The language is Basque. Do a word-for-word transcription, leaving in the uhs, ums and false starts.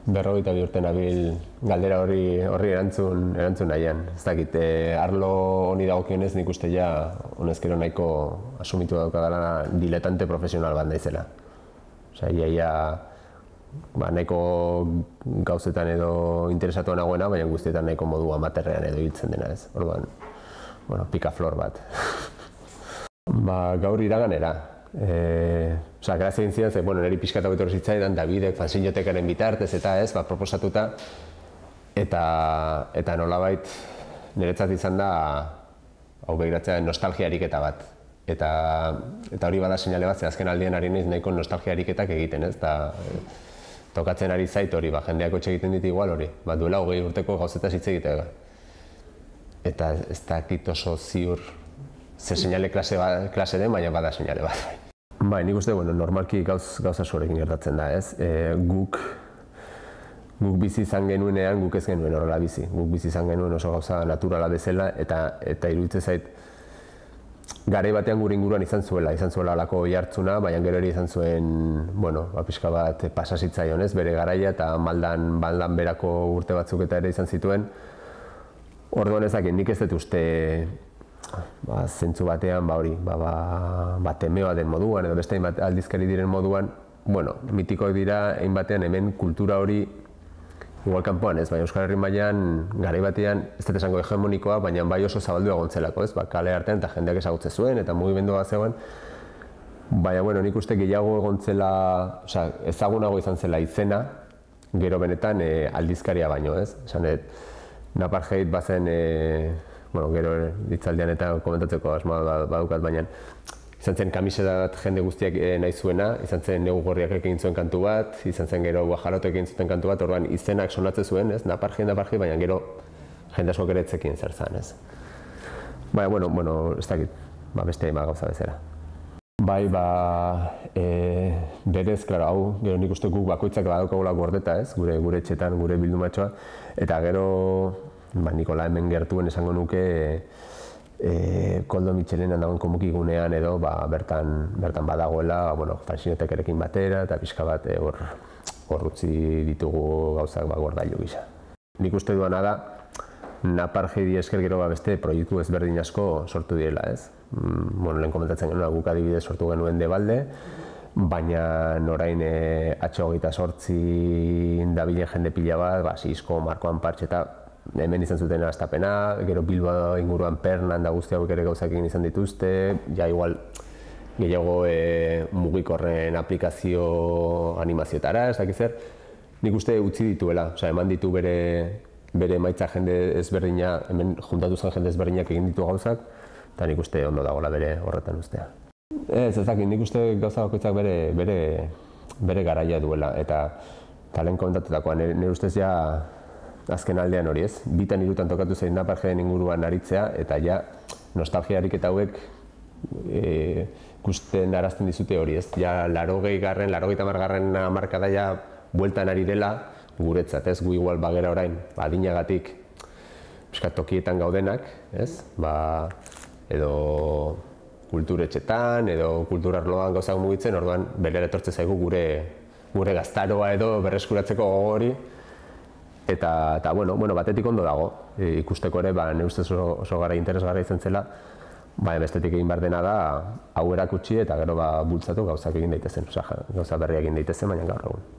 Berrogeita bi urte nabil galdera hori horri erantzun erantzun nahian. Ez dakit, eh, arlo honi dagokionez nik uste ja honezkero nahiko asumitu daukadala diletante profesional bat naizela. Osea, ia, ia ba, nahiko gauzetan edo interesatuan nagoena, baina guztietan nahiko modu amaterrean edo hiltzen dena, ez. Orduan, bueno, pikaflor bat. Ba, gaur iraganera. Eh, Osa, grazia egin zidan, ze, bueno, niri pixka eta betorri zitzaidan, Davidek fanzinotekaren bitartez eta ez, ba, proposatuta, eta, eta nolabait niretzat izan da, hau begiratzea, nostalgia ariketa bat. Eta, eta hori bada seinale bat, ze azken aldean ari naiz nahiko nostalgia ariketak egiten, ez, eta e, tokatzen ari zait hori, ba, jendeak hotxe egiten dit igual hori, ba, duela hogei urteko gauzetaz hitz egitea. Eta ez dakit oso ziur ze seinale klase, ba, klase den, baina bada seinale bat. Bai, nik uste, bueno, normalki gauz, gauza sorekin gertatzen da, ez? E, guk, guk bizi izan genuenean, guk ez genuen horrela bizi. Guk bizi izan genuen oso gauza naturala bezala, eta, eta iruditzen zait, garai batean gure inguruan izan zuela, izan zuela alako jartzuna, baina gero ere izan zuen, bueno, ba, pixka bat pasasitzaion, ez? Bere garaia eta maldan, maldan berako urte batzuk eta ere izan zituen. Orduan ezakit, nik ez dut uste, ba, zentzu batean, ba hori, ba, ba, ba temeoa den moduan, edo beste hainbat aldizkari diren moduan, bueno, mitikoak dira, hain batean hemen kultura hori, igual kanpoan ez, baina Euskal Herri mailan garai batean, ez dut esango hegemonikoa, baina bai oso zabaldua egontzelako, ez, ba, kale artean eta jendeak ezagutze zuen, eta mugimendua zegoen, baina, bueno, nik uste gehiago egontzela, osea, ezagunago izan zela izena, gero benetan e, aldizkaria baino, ez, esan dut, Napartheid bazen, e, bueno, gero hitzaldian eta komentatzeko asmoa badukat, baina izan zen kamiseta bat jende guztiak nahi zuena, izan zen Negu Gorriak egin zuen kantu bat, izan zen gero Guajarotek egin zuten kantu bat, orduan izenak sonatze zuen, ez, Napartheid, Napartheid, baina gero jende askok ere ez zekien zer zen, ez. Baina, bueno, bueno, ez dakit, ba, beste hainbat gauza bezala. Bai, ba, e, berez, klaro, hau, gero nik uste guk bakoitzak badaukagula gordeta, ez, gure, gure etxetan, gure bildumatxoa, eta gero, ba, Nikola hemen gertuen esango nuke e, Koldo Mitxelenan dagoen komukigunean edo ba, bertan, bertan badagoela, ba, bueno, fanzinotekerekin batera eta pixka bat hor hor utzi ditugu gauzak ba, gordailu gisa. Nik uste duana da, Napartheidi esker gero ba, beste proiektu ezberdin asko sortu direla, ez? Mm, bueno, lehen komentatzen genuen, guk adibidez sortu genuen Debalde, baina orain e, H hogeita zortzi dabilen jende pila bat, ba, Sisko, Markoan Partxe eta hemen izan zuten astapena, gero Bilbo inguruan Pernan da guzti hauek ere gauzak egin izan dituzte, ja igual gehiago e, mugikorren aplikazio animazioetara, ez dakiz zer, nik uste utzi dituela, osea, eman ditu bere bere emaitza jende ezberdina, hemen juntatu zen jende ezberdinak egin ditu gauzak, eta nik uste ondo dagoela bere horretan ustea. Ez, ez dakit, nik uste gauza bakoitzak bere, bere, bere garaia duela, eta talen komentatutakoa, nire ustez ja azken aldean hori ez, bitan hirutan tokatu zein Napartheiden inguruan aritzea, eta ja nostalgia ariketa hauek e, ikusten arazten dizute hori ez, ja larogei garren, larogeita hamar garren hamarkada ja bueltan ari dela guretzat ez, gu igual bagera orain, ba, adinagatik pixkat tokietan gaudenak, ez, ba, edo kulturetxetan, edo kulturarloan gauzak mugitzen, orduan berera etortze zaigu gure, gure gaztaroa edo berreskuratzeko gogo hori, eta, eta bueno, bueno, batetik ondo dago, e, ikusteko ere, ba, nire ustez oso, oso gara interesgarra izan zela, ba, bestetik egin behar dena da, hau erakutsi eta gero ba, bultzatu gauzak egin daitezen, osea, gauza berriak egin daitezen, baina gaur egun.